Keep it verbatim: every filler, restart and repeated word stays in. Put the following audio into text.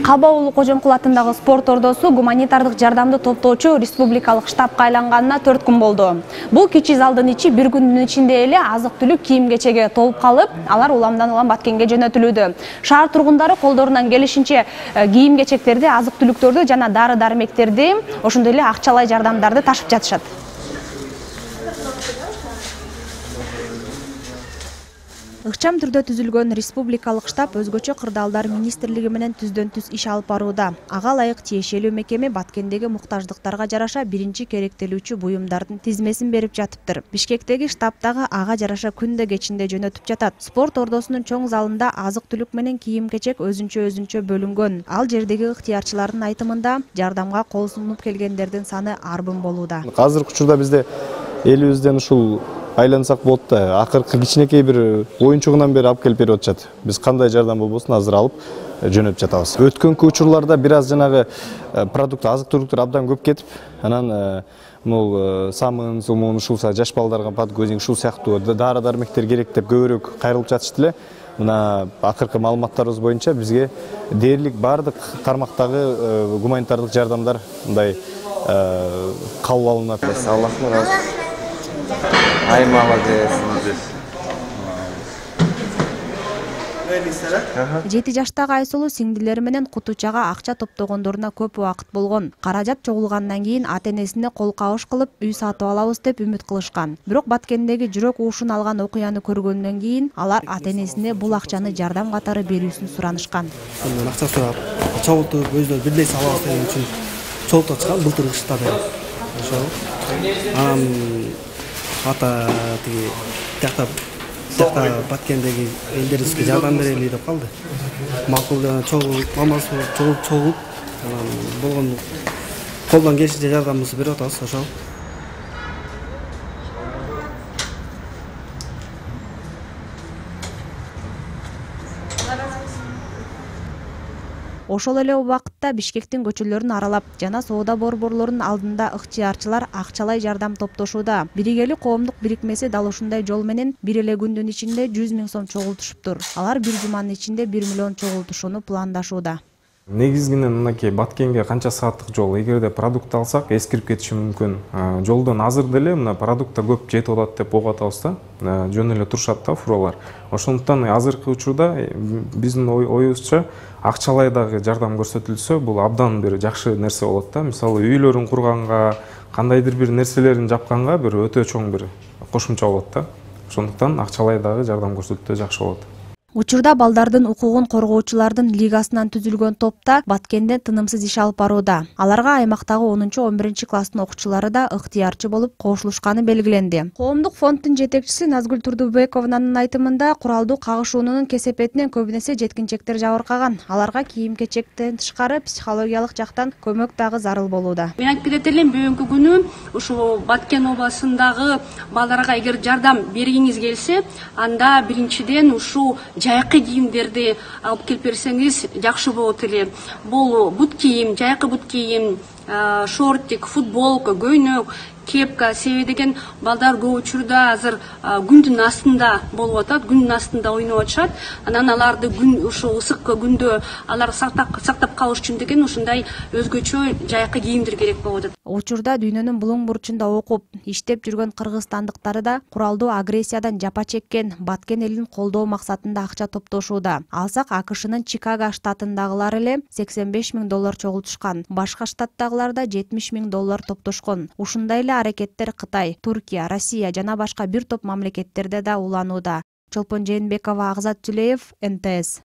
Каба уулу Кожомкул атындагы спорт ордосу гуманитардык жардамды топтоочу республикалык штабка айланганына төрт күн болду. Бул кичи залдын ичи бир күндүн ичинде эле азык-түлүк кийим-кечеге толуп калып, алар уламдан улам Баткенге жөнөтүлүүдө. Шаар тургундары колдорунан келишинче кийим-кечектерди, азык-түлүктөрдү жана дары-дармектерди, ошондой эле акчалай жардамдарды ташып жатышат. Ыкчам түрдө түзүлгөн республикалык штаб өзгөчө кырдаалдар министрлиги менен түздөн-түз иш алып барууда. Ага ылайык тиешелүү мекеме Баткендеги муктаждыктарга жараша биринчи керектелүүчү буюмдардын тизмесин берип жатыптыр. Бишкектеги штаб дагы ага жараша күндө кечинде жөнөтүп жатат. Спорт ордосунун чоң залында азык-түлүк менен кийим-кечек өзүнчө-өзүнчө бөлүнгөн. Ал жердеги ыктыярчылардын айтымында жардамга кол сунуп келгендердин саны арбын болууда. Азыркы учурда бизде элибизден ушул айлансак болот да, акыркы кичинекей бир оюнчугунан бери алып келип берип атышат. Биз кандай жардам болбосун азыр алып жөнөтүп жатабыз. Өткөнкү учурларда бир аз жанагы продукт, азык-түлүктөр абдан көп кетип, анан бул самын, сумун, ушул жаш балдарга подгузник, ушул сыяктуу дары-дармектер керек деп көбүрөөк кайрылып жатышты эле. Мына акыркы маалыматтарыбыз боюнча бизге дээрлик бардык тармактагы гуманитардык жардамдар мындай кабыл алынат. Аллахтын разы. Ай, молодец. Жети жаштагы Айсулуу сиңдилери менен кутучага акча топтогондоруна көп убакыт болгон. Каражат чогулгандан кийин ата-энесине кол кабыш кылып, үй сатып алабыз деп үмүт кылышкан. Бирок Баткендеги жүрөк уушун алган окуяны көргөндөн кийин алар ата-энесине бул акчаны жардам катары берүүсүн суранышкан. Мен акча сурап, чогултуп, өзүнө бир нерсе алабыз деген үчүн чогултуп чыккан былтыр кышта да. Ошол. Анан ата тиги тиякта тиякта Баткендеги элдерибизге жардам берели деп калды. Макул жана чогул мамасы чогул чогулуп, анан болгон колдон келишинче жардамыбызды берип атабыз, ошол. Ошол эле убакытта Бишкектин көчөлөрүн аралап жана соода борборлорунун алдында ыктыярчылар акчалай жардам топтошууда. Биригелик коомдук бирикмеси дал ушундай жол менен бир эле күндүн ичинде жүз миң сом чогултушуптур. Алар бир жуманын ичинде бир миллион чогултушууну пландашууда. Негизинен мынакей Баткенге канча сааттык жол, эгерде продукт алсак эскирип кетиши мүмкүн. Жолдон азыр деле мына продукт көп жетип атат деп угуп атабыз да. Жөн эле турушат да фуралар. Ошондуктан азыркы учурда биздин оюбузча акчалай дагы жардам көрсөтүлсө, бул абдан бир жакшы нерсе болот да. Мисалы, үйлөрүн курганга, кандайдыр бир нерселерин жапканга бир өтө чоң бир кошумча болот да. Ошондуктан акчалай дагы жардам көрсөтүлсө жакшы болот. Учурда балдардын укугун коргоочулардын лигасынан түзүлгөн топта Баткенде тынымсыз иш алып барууда. Аларга аймактагы онунчу он биринчи класстын окуучулары да ыктыярчы болуп кошулушканы белгиленди. Коомдук фонддун жетекчиси Назгүл Турдубекованын айтымында куралдуу кагышуунун кесепетинен көбүнесе жеткинчектер жабыркаган. Аларга кийим-кечектен тышкары психологиялык жактан көмөк дагы зарыл болууда. Мен айтып кетет элем, бүгүнкү күнү ушул Баткен областындагы балдарга эгер жардам бергиңиз келсе, анда биринчиден ушул жайкы кийимдерди алып келип берсеңиз жакшы болот эле. Бул бут кийим, жайкы бут кийим, шортик, футболка, көйнөк, кепка, себеби деген балдар көп учурда азыр күндүн астында болуп атат, күндүн астында ойноп атышат. Анан аларды күн ушул ысык күндө алар сактап сактап калыш үчүн деген ушундай өзгөчө жайкы кийимдер керек болуп атат. Учурда дүйнөнүн булуң бурчунда окуп, иштеп жүргөн кыргызстандыктары да куралдуу агрессиядан жапа чеккен Баткен элин колдоо максатында акча топтошууда. Алсак АКШнын Чикаго штатындагылар эле сексен беш миң доллар чогултушкан. Башка штаттагылар да жетимиш миң доллар топтошкон. Ушундай эле аракеттер Кытай, Туркия, Россия жана башка бир топ мамлекеттерде да уланууда. Чолпон Жээнбекова, Агзат Түлеев, эн тэ эс.